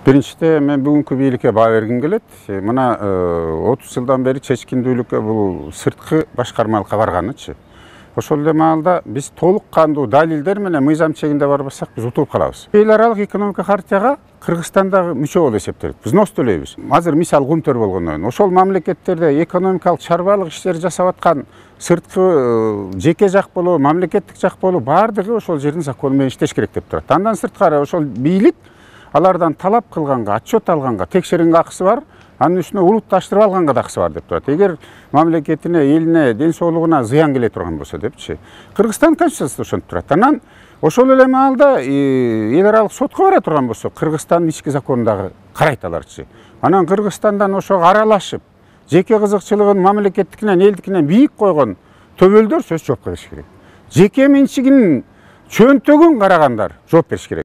Биринчиден мен бүгүнкү бийликке баа бергим келет. Мына 30 жылдан бери чечкиндүүлүккө бул сырткы башкармалыкка барганычы. Ошол эле маалда биз толук кандуу далилдер менен мыйзам чегинде барбасак биз утулуп калабыз. Эл аралык экономика хартияга Кыргызстан дагы мүчө болуп эсептелет. Биз нос төлөйбүз. Азыр мисал Кумтөр болгондон ошол мамлекеттерде экономикалык чарбалык иштерди жасап аткан сырткы жеке жак болобу, мамлекеттик жак болобу баардыгы ошол жердин закону менен иштеш керек деп турат. Андан сырткары ошол бийлик алардан талап кылганга, отчет алганга, текшергенге акысы бар, анын үстүнө улутташтырып алганга да акысы бар деп турат. Эгер мамлекетине, элине, ден соолугуна зыян келе турган болсо депчи. Кыргызстан конституциясында ошентип турат. Анан ошол эле маалда эл аралык сотко бара турган болсо, Кыргызстандын ички законун дагы карайт аларчы. Анан Кыргызстандан ошого аралашып, жеке кызыкчылыгын мамлекеттикинен, элдикинен бийик койгон төбөлдөр сөзсүз жоопко бериш керек. Жеке менчигинин чөнтөгүн карагандар жооп бериш керек.